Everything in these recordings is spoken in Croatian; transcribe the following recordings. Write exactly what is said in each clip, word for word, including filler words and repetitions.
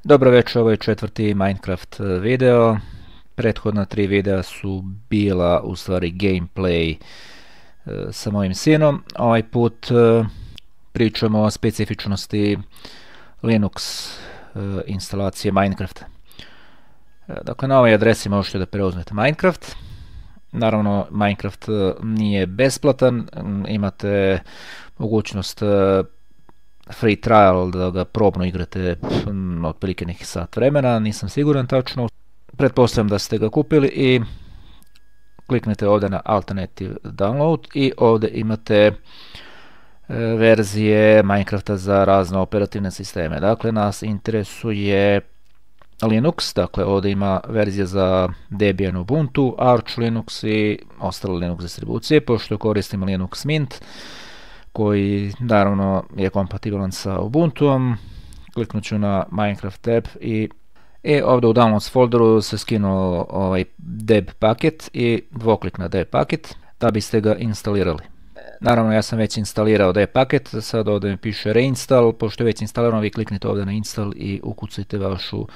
Dobro večer, ovo je četvrti Minecraft video. Prethodna tri videa su bila u stvari gameplay sa mojim sinom. Ovaj put pričamo o specifičnosti Linux instalacije Minecrafta. Dakle, na ovoj adresi možete da preuzmete Minecraft. Naravno, Minecraft nije besplatan, imate mogućnost free trial da ga probno igrate otprilike nekih sat vremena, nisam siguran tačno. Pretpostavljam da ste ga kupili i kliknete ovdje na Alternative Download i ovdje imate verzije Minecrafta za razne operativne sisteme. Dakle, nas interesuje Linux, dakle ovdje ima verzija za Debian, Ubuntu, Arch Linux i ostale Linux distribucije, pošto koristimo Linux Mint, koji naravno je kompatibilan sa Ubuntuom. Kliknut ću na Minecraft tab i, i ovdje u Downloads folderu se skinuo ovaj deb paket i dvoklik na deb paket da biste ga instalirali. Naravno, ja sam već instalirao deb paket, sad ovdje mi piše reinstall, pošto je već instalirano vi kliknite ovdje na install i ukucajte vašu uh,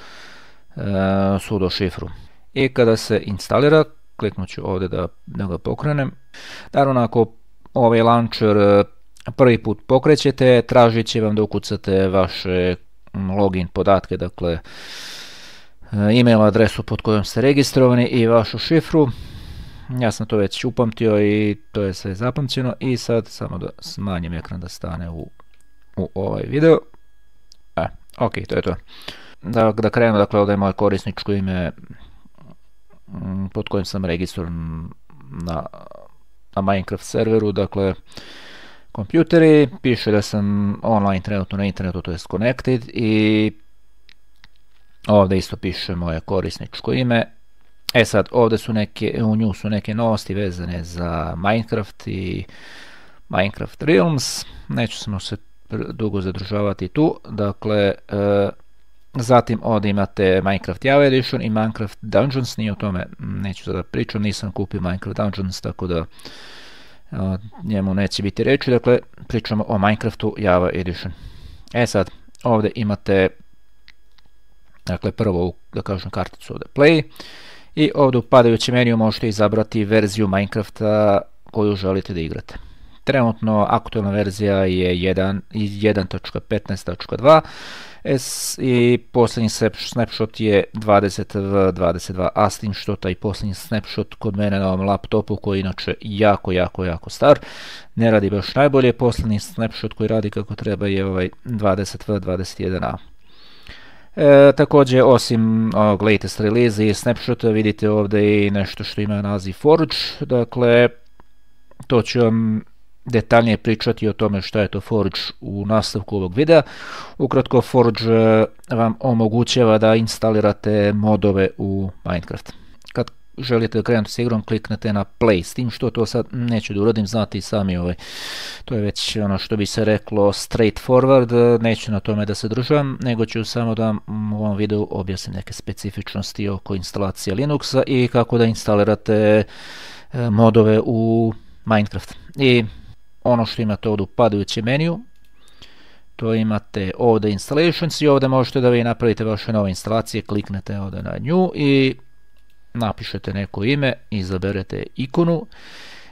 sudo šifru. I kada se instalira, kliknut ću ovdje da, da ga pokrenem. Naravno, ako ovaj launcher prvi put pokrećete, tražit će vam da ukucate vaše login podatke, dakle e-mail adresu pod kojom ste registrovani i vašu šifru. Ja sam to već upamtio i to je sve zapamćeno i sad samo da smanjim ekran da stane u, u ovaj video. E, ok, to je to. Da, da krenu, dakle ovdje je moje korisničko ime pod kojim sam registrovan na, na Minecraft serveru, dakle kompjuteri, piše da sam online trenutno na internetu, to je connected, i ovdje isto piše moje korisničko ime. E sad, ovdje su neke, u nju su neke novosti vezane za Minecraft i Minecraft Realms, neću samo se dugo zadržavati tu, dakle, e, zatim ovdje imate Minecraft Java Edition i Minecraft Dungeons, nije o tome, neću sada pričam, nisam kupio Minecraft Dungeons, tako da o njemu neće biti reći, dakle pričamo o Minecraftu Java Edition. E sad, ovdje imate dakle prvo, da kažem, karticu ovdje Play i ovdje u padajućem meniju možete izabrati verziju Minecrafta koju želite da igrate. Trenutno aktualna verzija je jedan točka petnaest točka dva i posljednji snapshot je dvadeset v dvadeset dva a, s tim što taj posljednji snapshot kod mene na ovom laptopu, koji je inače jako, jako, jako star, ne radi baš najbolje. Posljednji snapshot koji radi kako treba je ovaj dvadeset v dvadeset jedan a. E, također, osim ovog latest release i snapshota, vidite ovdje i nešto što ima naziv Forge, dakle to ću vam detaljnije pričati o tome šta je to Forge u nastavku ovog videa. Ukratko, Forge vam omogućava da instalirate modove u Minecraft. Kad želite krenuti s igrom, kliknete na Play, s tim što to sad neću da uradim, znate i sami, ovaj, to je već ono što bi se reklo straightforward, neću na tome da se državam, nego ću samo da vam u ovom videu objasnim neke specifičnosti oko instalacije Linuxa i kako da instalirate modove u Minecraft. I ono što imate ovdje u padajućem meniju, to imate ovdje installations i ovdje možete da vi napravite vaše nove instalacije, kliknete ovdje na nju i napišete neko ime, izaberete ikonu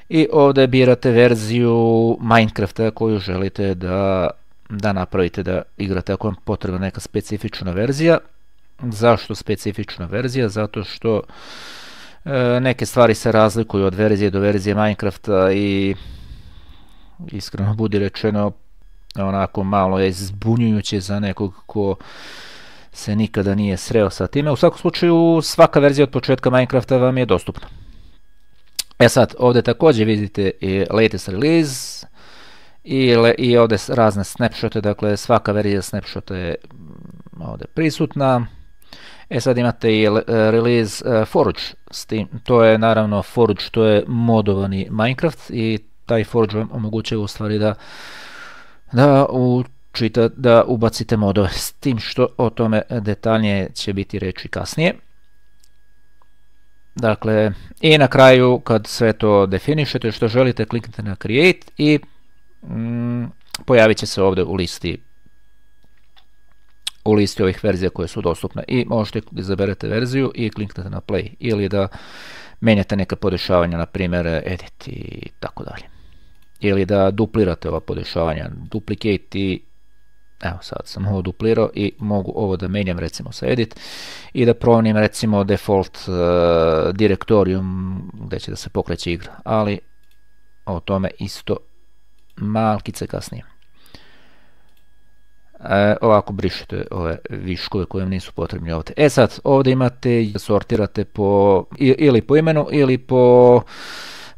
i ovdje birate verziju Minecrafta koju želite da, da napravite, da igrate, ako vam potrebna neka specifična verzija. Zašto specifična verzija? Zato što e, neke stvari se razlikuju od verzije do verzije Minecrafta i iskreno budi rečeno onako malo je zbunjujuće za nekog ko se nikada nije sreo sa time. U svakom slučaju, svaka verzija od početka Minecrafta vam je dostupna. E sad, ovdje također vidite i latest release i, le, i ovdje razne snapshote, dakle svaka verzija snapshota je ovdje prisutna. E sad imate i release uh, Forge, s tim, to je naravno Forge, to je modovani Minecraft i taj Forge vam omogućuje u stvari da, da, učita, da ubacite modove, s tim što o tome detaljnije će biti reći kasnije. Dakle, i na kraju kad sve to definišete što želite, kliknite na Create i mm, pojavit će se ovdje u listi u listi ovih verzija koje su dostupne i možete izaberete verziju i kliknete na play ili da menjate neka podešavanja, na primjer edit i tako dalje. Ili da duplirate ova podešavanja, duplicate i evo sad sam ovo duplirao i mogu ovo da menjam recimo sa edit i da promijenim recimo default uh, direktorijum gdje će da se pokreće igra, ali o tome isto malkice kasnije. E, ovako brišete ove viškove koje nisu potrebni ovdje. E sad, ovdje imate, sortirate po, ili po imenu ili po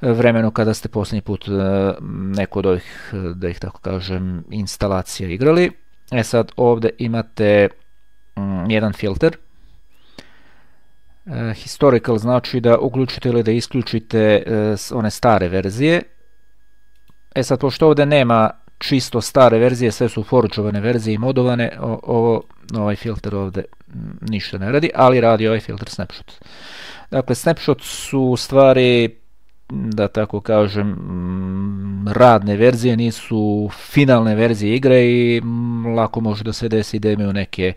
vremenu kada ste posljednji put neko od ovih, da ih tako kažem, instalacija igrali. E sad, ovdje imate mm, jedan filter. E, historical znači da uključite ili da isključite e, one stare verzije. E sad, pošto ovdje nema čisto stare verzije, sve su forđovane verzije i modovane, o, ovo, ovaj filter ovdje ništa ne radi, ali radi ovaj filter snapshot. Dakle, snapshot su u stvari, da tako kažem, radne verzije, nisu finalne verzije igre i lako može da se desi da imaju neke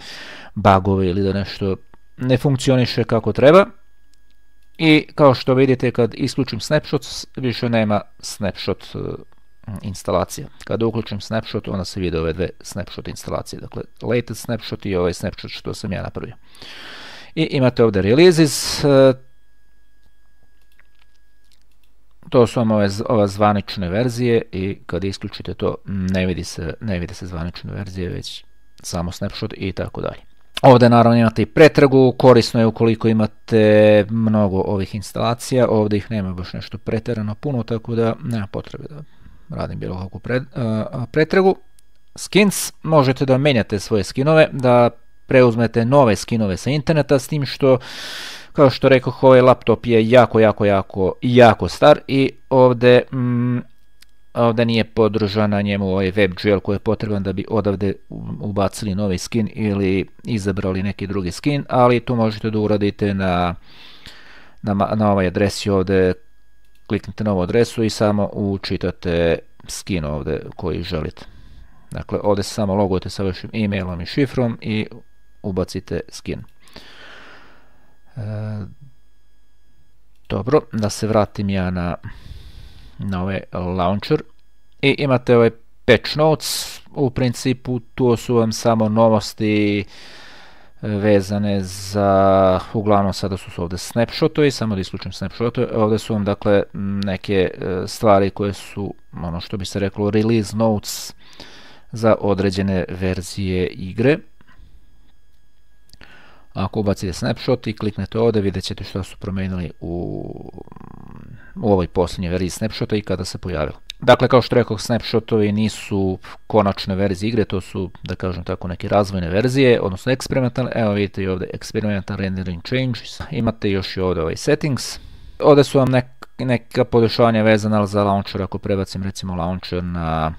bugove ili da nešto ne funkcioniše kako treba. I kao što vidite, kad isključim snapshot, više nema snapshot instalacija. Kada uključim snapshot, onda se vide ove dve snapshot instalacije, dakle latest snapshot i ovaj snapshot što sam ja napravio. I imate ovdje releases, to su vam ove, ove zvanične verzije i kad isključite to ne vidi se, ne vidi se zvanične verzije, već samo snapshot i tako dalje. Ovdje naravno imate i pretragu, korisno je ukoliko imate mnogo ovih instalacija, ovdje ih nema baš nešto pretjerano puno, tako da nema potrebe da radim bilo kakvu pred, uh, pretragu. Skins, možete da menjate svoje skinove, da preuzmete nove skinove sa interneta, s tim što, kao što rekoh, ovaj laptop je jako, jako, jako, jako star i ovdje, mm, ovdje nije podržan na njemu ovaj WebGL koji je potreban da bi odavde ubacili novi skin ili izabrali neki drugi skin, ali tu možete da uradite na, na, na ovoj adresi ovdje, kliknite na ovu adresu i samo učitate skin ovdje koji želite. Dakle, ovdje se samo logujete sa vašim e-mailom i šifrom i ubacite skin. E, dobro, da se vratim ja na, na ovaj launcher. I imate ovaj patch notes, u principu tu su vam samo novosti vezane za, uglavnom sada su ovdje snapshotovi, samo da isključim snapshotove, ovdje su vam dakle neke stvari koje su, ono što bi se reklo, release notes za određene verzije igre. Ako ubacite snapshot i kliknete ovdje, vidjet ćete što su promijenili u, u ovoj posljednjoj verziji snapshota i kada se pojavilo. Dakle, kao što rekao, snapshotovi nisu konačne verzije igre, to su, da kažem tako, neke razvojne verzije, odnosno eksperimentalne. Evo vidite i ovdje experimental rendering changes. Imate još i ovdje ovaj settings. Ovdje su vam nek, neka podešavanja vezana za launcher, ako prebacim recimo launcher na,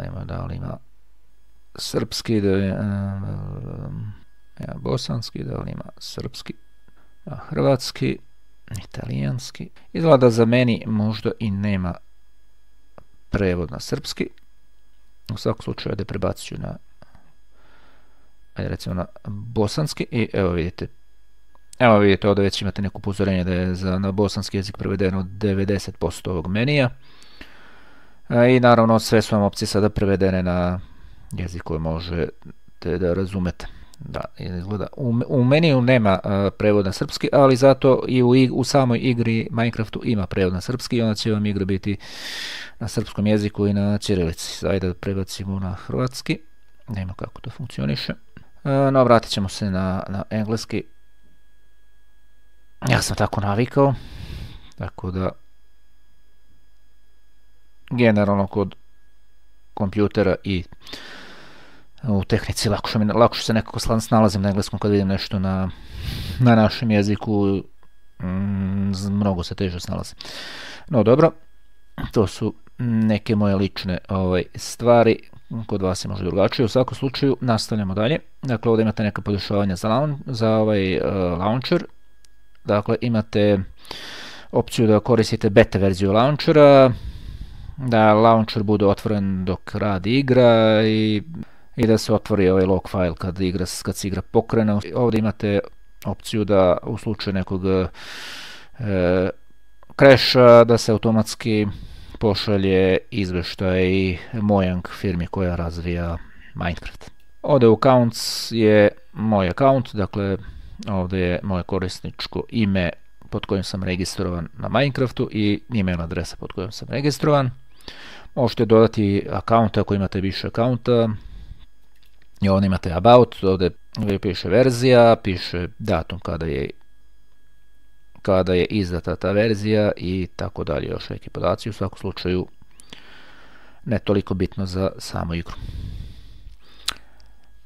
nema da li ima srpski, da je, ja, bosanski, da li ima srpski, a, hrvatski, italijanski. Izgleda za meni možda i nema prevod na srpski. U svakom slučaju da prebacit ću na, ajde recimo na bosanski i evo vidite. Evo vidite, ovdje već imate neko upozorenje da je za, na bosanski jezik prevedeno devedeset posto ovog menija. I naravno sve su vam opcije sada prevedene na jezik koji možete da razumete. Da, izgleda. U, u meniju nema uh, prevod na srpski, ali zato i u, u samoj igri Minecraftu ima prevod na srpski i onda će vam igra biti na srpskom jeziku i na ćirilici. Ajde da prebacimo na hrvatski. Nema kako to funkcioniše. Uh, no, vratit ćemo se na, na engleski. Ja sam tako navikao. Tako da generalno kod kompjutera i u tehnici lakše, lakše se nekako snalazim na engleskom kad vidim nešto na, na našem jeziku, mm, mnogo se teže snalazim. No dobro, to su neke moje lične ovaj, stvari, kod vas je možda drugačije. U svakom slučaju nastavljamo dalje. Dakle, ovdje imate neka podešavanja za, laun, za ovaj uh, launcher. Dakle, imate opciju da koristite beta verziju launchera, da launcher bude otvoren dok radi igra i i da se otvori ovaj log file kad, igra, kad se igra pokrene. Ovdje imate opciju da u slučaju nekog e, crasha da se automatski pošalje izvještaj Mojang firmi koja razvija Minecraft. Ovdje u accounts je moj account, dakle ovdje je moje korisničko ime pod kojim sam registrovan na Minecraftu i email adresa pod kojom sam registrovan. Možete dodati account ako imate više accounta. I ovdje imate about, ovdje piše verzija, piše datum kada je kada je izdata ta verzija i tako dalje, još neki podaci, u svakom slučaju ne toliko bitno za samu igru.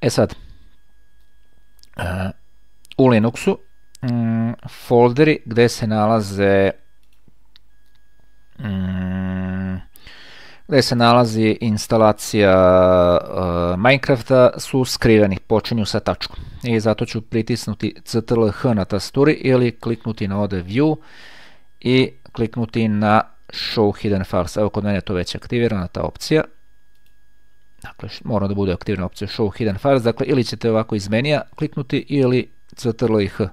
E sad, u Linuxu mm, folderi gdje se nalaze mm, gdje se nalazi instalacija uh, Minecrafta su skriveni, počinju sa tačkom. I zato ću pritisnuti Ctrl H na tasturi ili kliknuti na ovdje View i kliknuti na Show Hidden Files. Evo kod mene je to već aktivirana ta opcija. Dakle, mora da bude aktivna opcija Show Hidden Files. Dakle, ili ćete ovako iz menija kliknuti ili Ctrl i H.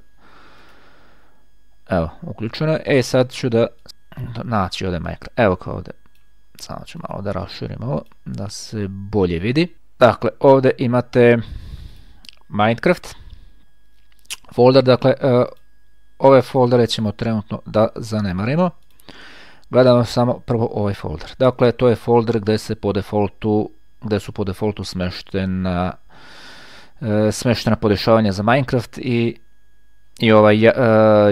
Evo, uključeno je. E, sad ću da naći ovdje Minecraft. Evo kao ovdje. Samo ću malo da raširim ovo, da se bolje vidi. Dakle, ovdje imate Minecraft folder, dakle, uh, ove foldere ćemo trenutno da zanemarimo. Gledamo samo prvo ovaj folder. Dakle, to je folder gdje se po defaultu, gdje su po defaultu smeštena, uh, smeštena podešavanja za Minecraft i i ovaj uh,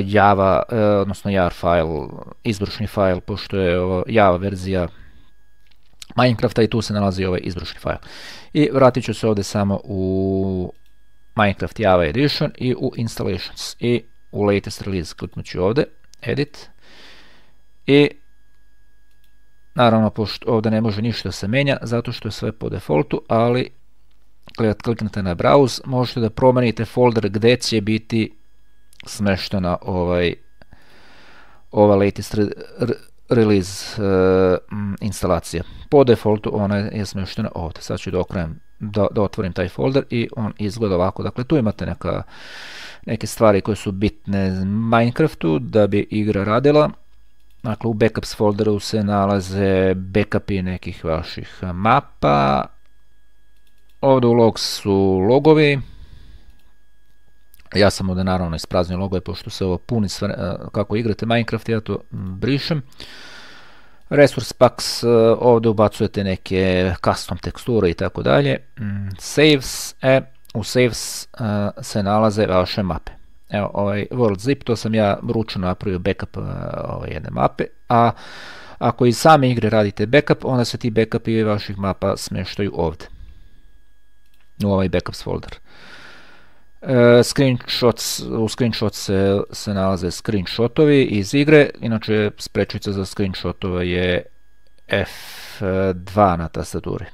Java, uh, odnosno jar file, izvršni file, pošto je ovo Java verzija Minecrafta i tu se nalazi ovaj izvršni file. I vratit ću se ovdje samo u Minecraft Java Edition i u Installations i u Latest Release kliknut ću ovdje, Edit i naravno pošto ovdje ne može ništa se menja zato što je sve po defaultu, ali kad kliknete na Browse možete da promenite folder gdje će biti smeštena ovaj ova latest re, re, release uh, instalacija. Po defaultu ona je smeštena ovdje. Sad ću da okrenem, da, da otvorim taj folder i on izgleda ovako. Dakle, tu imate neka, neke stvari koje su bitne Minecraftu da bi igra radila. Dakle, u backups folderu se nalaze backupi nekih vaših mapa. Ovdje u logs su logovi. Ja sam ovdje naravno ispraznio logove, pošto se ovo puni sve, kako igrate Minecraft, ja to brišem. Resource packs, ovdje ubacujete neke custom teksture i tako dalje. Saves, e, u saves se nalaze vaše mape. Evo, ovaj world zip, to sam ja ručno napravio backup ove jedne mape, a ako iz same igre radite backup, onda se ti backupi vaših mapa smještaju ovdje, u ovaj backups folder. Uh, screenshots, u screenshot se, se nalaze screenshotovi iz igre, inače sprečica za screenshotove je F dva na tastaturi.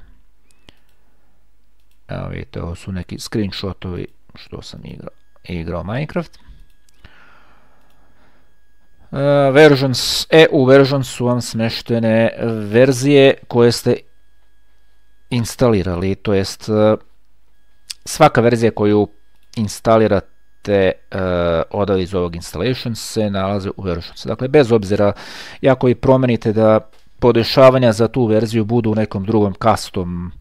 Evo vidite, ovo su neki screenshotovi što sam igrao, igrao Minecraft. Uh, versions, e, u versions su vam smeštene verzije koje ste instalirali, to jest uh, svaka verzija koju instalirate uh, od iz ovog installation se nalaze u versions. Dakle, bez obzira, ako i promenite da podešavanja za tu verziju budu u nekom drugom custom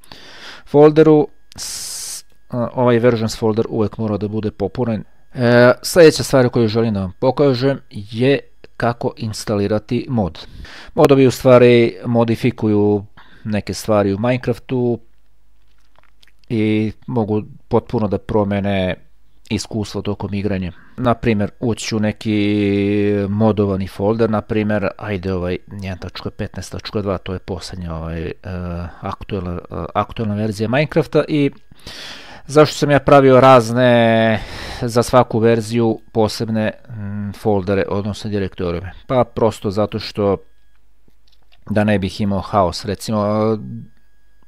folderu, s, uh, ovaj versions folder uvijek mora da bude popunjen. Uh, sljedeća stvar koju želim da vam pokažem je kako instalirati mod. Modovi u stvari modifikuju neke stvari u Minecraftu i mogu potpuno da promene iskustvo tokom igranja. Naprimjer, ući u neki modovani folder, naprimjer, ajde ovaj jedan tačka petnaest tačka dva, to je posljednja ovaj, uh, aktualna, uh, aktualna verzija Minecrafta i zašto sam ja pravio razne, za svaku verziju posebne mm, foldere, odnosno direktorije? Pa prosto zato što da ne bih imao haos, recimo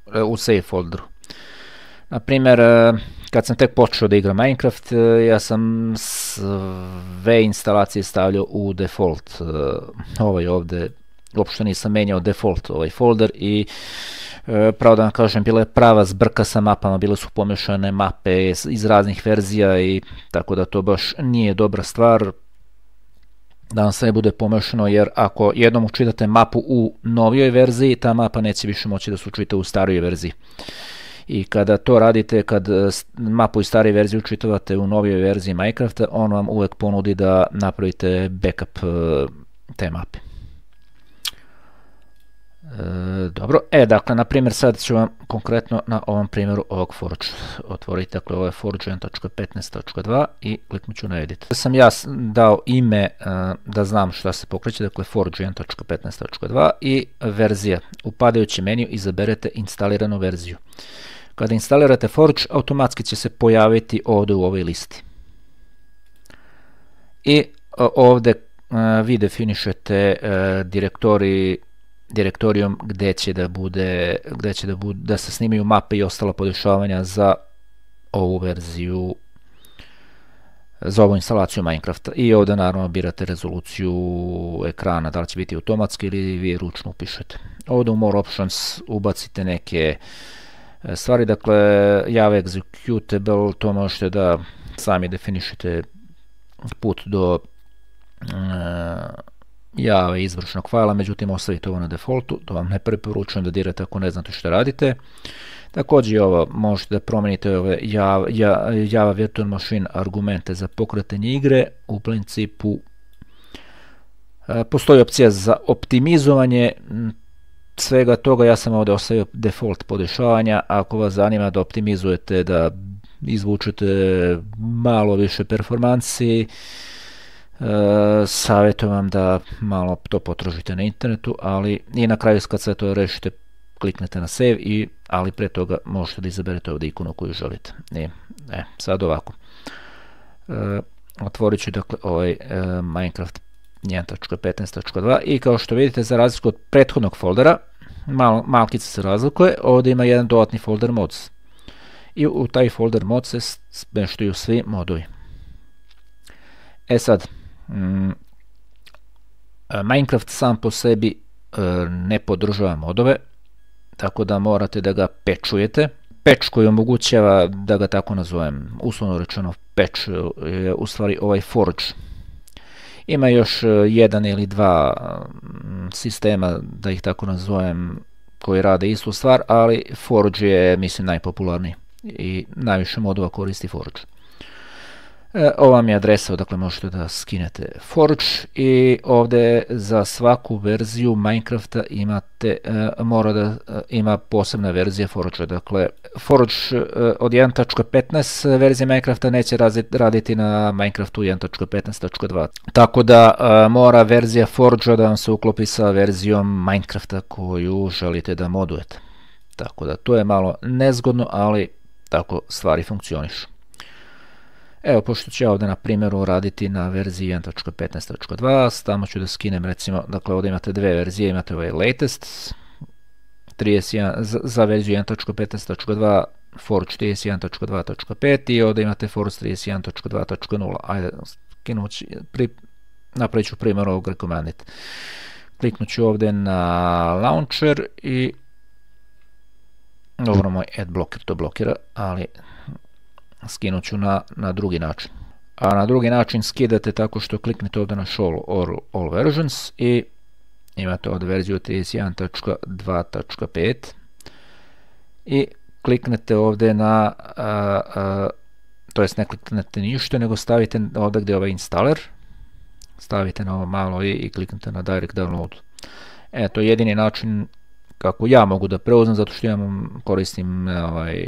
uh, u save folderu. Naprimjer, kad sam tek počeo da igram Minecraft, ja sam sve instalacije stavljao u default. Ovaj ovdje, uopšte nisam menjao default ovaj folder i Pravo da vam kažem, bila je prava zbrka sa mapama, bile su pomešane mape iz raznih verzija i tako da to baš nije dobra stvar da vam sve bude pomešano, jer ako jednom učitate mapu u novijoj verziji, ta mapa neće više moći da se učita u starijoj verziji. I kada to radite, kad mapu iz starije verzije učitavate u novijoj verziji Minecrafta, on vam uvek ponudi da napravite backup te mape. E, dobro, e, dakle, na primjer, sad ću vam konkretno na ovom primjeru ovog Forge otvoriti, dakle, ovo je forge jedan točka petnaest točka dva i kliknut ću na edit. Sam ja dao ime uh, da znam šta se pokreće, dakle, forge jedan točka petnaest točka dva i verzija. U padajući meniju izaberete instaliranu verziju. Kada instalirate Forge, automatski će se pojaviti ovdje u ovoj listi. I uh, ovdje uh, vi definišete uh, direktori direktorijom gdje će da bude, gdje će da bude, da se snimaju mape i ostala podešavanja za ovu verziju, za ovu instalaciju Minecrafta. I ovdje naravno birate rezoluciju ekrana, da li će biti automatski ili vi ručno upišete. Ovdje u More Options ubacite neke stvari, dakle Java Executable, to možete da sami definišete put do uh, Java izvršnog fajla, međutim ostavite ovo na defaultu, to vam ne preporučujem da dirate ako ne znate što radite. Također i ovo možete da promijenite ove Java, Java Virtual Machine argumente za pokretanje igre. U principu postoji opcija za optimizovanje svega toga, ja sam ovdje ostavio default podešavanja. Ako vas zanima da optimizujete, da izvučete malo više performansi, Uh, savjetujem vam da malo to potražite na internetu, ali i na kraju kad sve to rešite kliknete na save, i, ali pre toga možete da izaberete ovdje ikonu koju želite. I, e, sad ovako. Uh, otvorit ću dakle ovaj uh, Minecraft jedan točka petnaest točka dva i kao što vidite, za razliku od prethodnog foldera, mal, malkice se razlikuje, ovdje ima jedan dodatni folder mods. I u taj folder mods se smeštaju svi modovi. E sad, mm, Minecraft sam po sebi e, ne podržava modove, tako da morate da ga pečujete. Patch koji omogućava, da ga tako nazovem, uslovno rečeno patch, je u stvari ovaj Forge. Ima još jedan ili dva sistema, da ih tako nazovem, koji rade istu stvar, ali Forge je, mislim, najpopularniji i najviše modova koristi Forge. E, ovo vam je adresa odakle možete da skinete Forge, i ovdje za svaku verziju Minecrafta imate, e, mora da e, ima posebna verzija Forge. Dakle, Forge e, od jedan točka petnaest verzije Minecrafta neće razit, raditi na Minecraftu jedan točka petnaest točka dva. Tako da e, mora verzija Forge da vam se uklopi sa verzijom Minecrafta koju želite da modujete. Tako da to je malo nezgodno, ali tako stvari funkcionišu. Evo, pošto ću ja ovdje na primjeru raditi na verziji jedan točka petnaest točka dva, tamo ću da skinem, recimo, dakle ovdje imate dve verzije, imate ovaj latest, trideset jedan, za, za verziju jedan točka petnaest točka dva, Forge trideset jedan točka dva točka pet i ovdje imate Forge trideset jedan točka dva točka nula. Ajde, skinući, pri, napravit ću primjer ovog recommended. Kliknut ću ovdje na launcher i dobro, moj adblocker to blokira, ali skinut ću na, na drugi način. A na drugi način skidate tako što kliknete ovdje na show all, all versions i imate ovdje verziju trideset jedan točka dva točka pet i kliknete ovdje na, a, a, to jest ne kliknete ništa, nego stavite ovdje gdje je ovaj installer, stavite na ovo malo i, i kliknete na direct download. E, to je jedini način kako ja mogu da preuzmem, zato što ja koristim ovaj,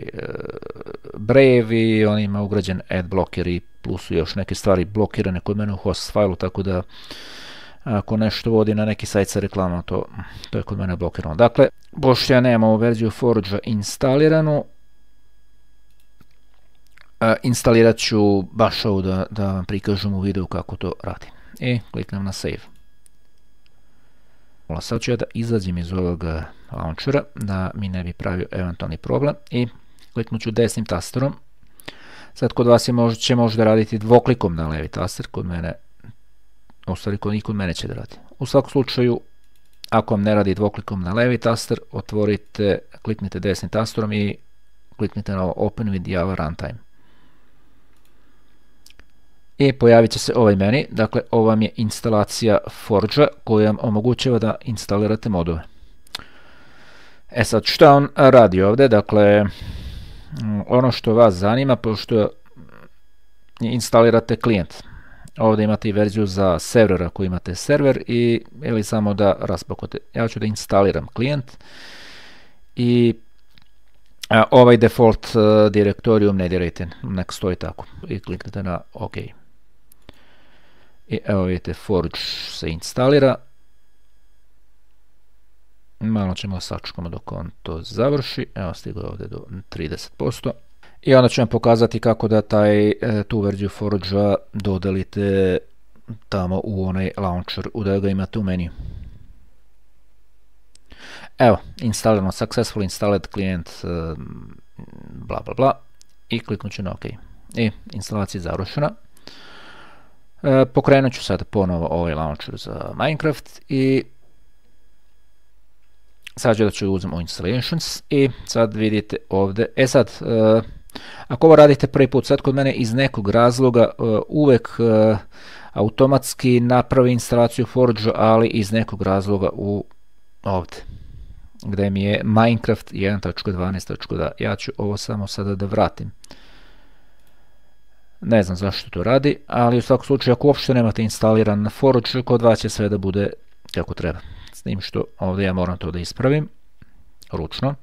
Brave i on ima ugrađen adblocker i plus su još neke stvari blokirane kod mene u host failu, tako da ako nešto vodi na neki sajt sa reklamom, to, to je kod mene blokirano. Dakle, pošto ja nemam ovu verziju Forge instaliranu, instalirat ću baš ovo da, da vam prikažem u videu kako to radi. I kliknem na save. Sad ću ja da izađem iz ovog launchera, da mi ne bi pravio eventualni problem, i kliknut ću desnim tasterom. Sad kod vas je mož, će možda raditi dvoklikom na levi taster, kod mene, u stvari kod, i kod mene će da radi. U svakom slučaju ako vam ne radi dvoklikom na levi taster, otvorite, kliknite desnim tasterom i kliknite na Open with Java Runtime. I pojavit će se ovaj meni, dakle ovo vam je instalacija Forge-a koja vam omogućava da instalirate modove. E sad, što on radi ovdje? Dakle, ono što vas zanima, pošto instalirate klijent, ovdje imate i verziju za server ako imate server i ili samo da raspakujete. Ja ću da instaliram klijent i a, ovaj default uh, direktorijum ne dirajte, nek stoji tako i kliknite na OK. I evo vidite, Forge se instalira. Malo ćemo sačekamo dok on to završi. Evo, stigo je ovdje do trideset posto. I onda ću vam pokazati kako da taj, tu verziju Forge-a dodelite tamo u onaj launcher, da ga imate u meniju. Evo, instalirano, successful installed client, bla bla bla. I kliknut ću na OK. I instalacija je završena. Pokrenut ću sad ponovo ovaj launcher za Minecraft i sad ću da ću uzem u installations i sad vidite ovdje, e sad, uh, ako ovo radite prvi put, sad kod mene iz nekog razloga uh, uvek uh, automatski napravi instalaciju Forge, ali iz nekog razloga u ovdje, gdje mi je Minecraft jedan tačka dvanaest tačka dva. Ja ću ovo samo sada da vratim. Ne znam zašto to radi, ali u svakom slučaju ako uopšte nemate instaliran na Forge, kod vas će sve da bude kako treba. S tim što ovdje ja moram to da ispravim ručno.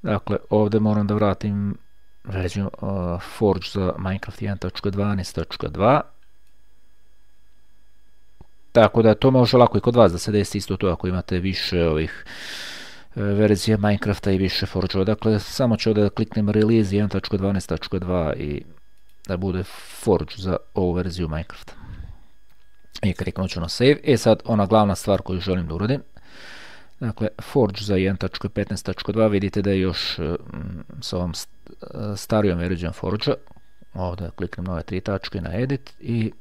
Dakle, ovdje moram da vratim verziju uh, Forge za Minecraft jedan tačka dvanaest tačka dva. Tako da to može lako i kod vas da se desi isto to ako imate više ovih uh, verzija Minecrafta i više Forge-ova. Dakle, samo ću ovdje da kliknem Release jedan tačka dvanaest tačka dva i da bude Forge za ovu verziju Minecrafta. I kliknut ću na Save. E sad, ona glavna stvar koju želim da uradim. Dakle, Forge za jedan tačka petnaest tačka dva vidite da je još mm, s ovom st starijom verzijom Forge-a. Ovdje kliknem na ove tri tačke na Edit i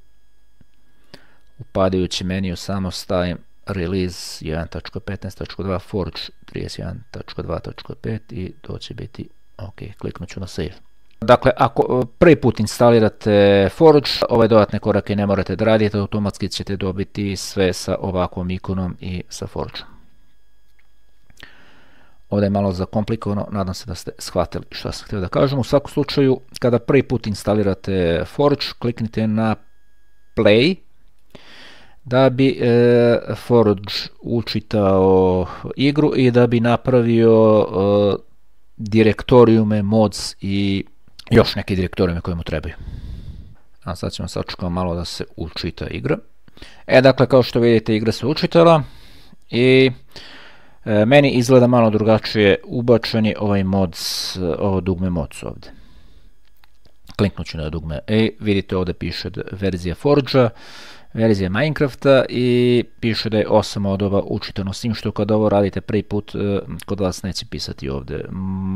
upadajući meniju samo stavim Release jedan tačka petnaest tačka dva Forge trideset jedan tačka dva tačka pet i to će biti OK. Kliknut ću na Save. Dakle, ako prvi put instalirate Forge, ove dodatne korake ne morate da radite, automatski ćete dobiti sve sa ovakvom ikonom i sa Forge. Ovdje je malo zakomplikovano, nadam se da ste shvatili što sam htio da kažem. U svakom slučaju, kada prvi put instalirate Forge, kliknite na Play, da bi e, Forge učitao igru i da bi napravio e, direktorijume, mods i još neke direktorijume koje mu trebaju. A sad ćemo sačekati malo da se učita igra. E, dakle, kao što vidite, igra se učitala i e, meni izgleda malo drugačije ubačen je ovaj mods, ovo dugme mods ovdje. Kliknut ću na dugme i vidite ovdje piše verzija Forge-a, verzija Minecrafta i piše da je osam modova učitano, s tim što kad ovo radite prvi put kod vas neće pisati ovdje,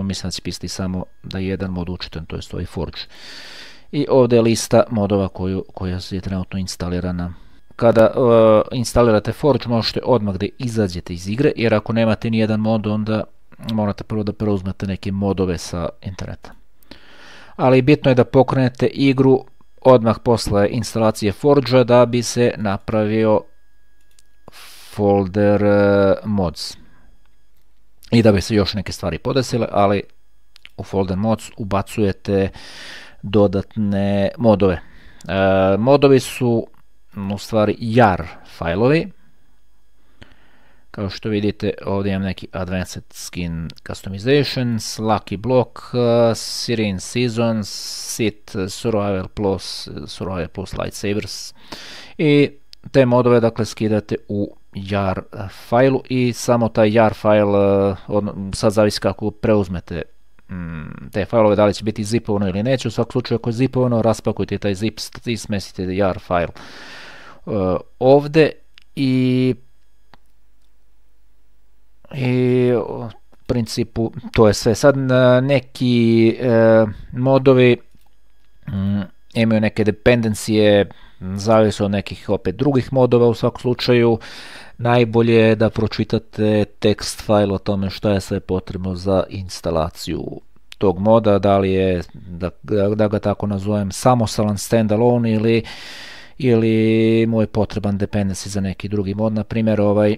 mislim da će pisati samo da je jedan mod učitan, to je ovaj Forge. I ovdje je lista modova koju, koja je trenutno instalirana. Kada uh, instalirate Forge možete odmah da izađete iz igre, jer ako nemate nijedan mod onda morate prvo da preuzmete neke modove sa interneta. Ali bitno je da pokrenete igru odmah posle instalacije Forge-a da bi se napravio folder uh, mods i da bi se još neke stvari podesile, ali u folder mods ubacujete dodatne modove. Uh, modovi su u stvari jar fajlovi. Kao što vidite, ovdje imam neki Advanced Skin Customizations, Lucky Block, uh, Syrian Seasons, Sit, Survival Plus, Survival Plus Lightsabers. I te modove, dakle, skidate u jar fajlu i samo taj jar fajl, uh, od, sad zavisi kako preuzmete mm, te fajlove, da li će biti zipovano ili neće. U svakom slučaju, ako je zipovano, raspakujte taj zip i smestite jar fajl uh, ovdje i i u principu to je sve. Sad neki e, modovi mm, imaju neke dependencije, zavisi od nekih opet drugih modova. U svakom slučaju najbolje je da pročitate tekst file o tome što je sve potrebno za instalaciju tog moda, da li je, da, da ga tako nazovem, samostalan standalone ili ili mu je potreban dependency za neki drugi mod. Na primjer, ovaj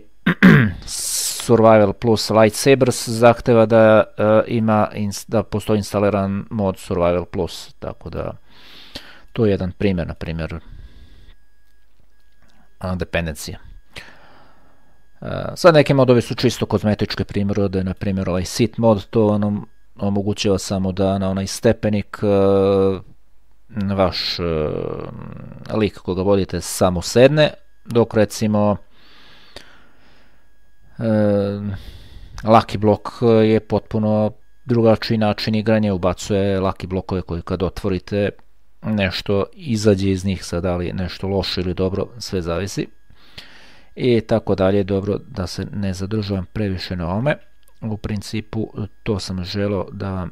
Survival plus Lightsabers zahteva da uh, ima da postoji instaliran mod Survival plus, tako da to je jedan primjer, na primjer, dependencija. Uh, sad neki modovi su čisto kozmetičke prirode, na primjer ovaj sit mod, to nam omogućava samo da na onaj stepenik uh, vaš uh, lik koga vodite samo sedne, dok recimo uh, Lucky Block je potpuno drugačiji način igranja, ubacuje Lucky blokove koji kad otvorite nešto izađe iz njih, sad da li nešto loše ili dobro, sve zavisi i tako dalje. Dobro, da se ne zadržavam previše na ovome. U principu to sam želeo da vam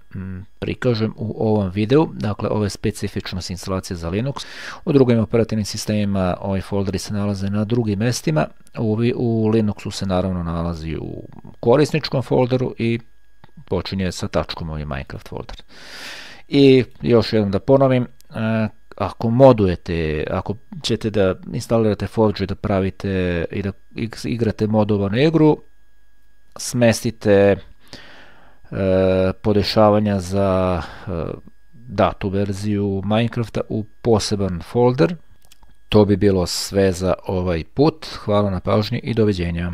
prikažem u ovom videu. Dakle, ovo je specifičnost instalacije za Linux. U drugim operativnim sistemima ovi folderi se nalaze na drugim mestima. U, u Linuxu se naravno nalazi u korisničkom folderu i počinje sa tačkom ovaj Minecraft folder. I još jednom da ponovim, ako modujete, ako ćete da instalirate Forge i da pravite i da igrate modovanu igru, smestite e, podešavanja za e, datu verziju Minecrafta u poseban folder. To bi bilo sve za ovaj put. Hvala na pažnji i doviđenja.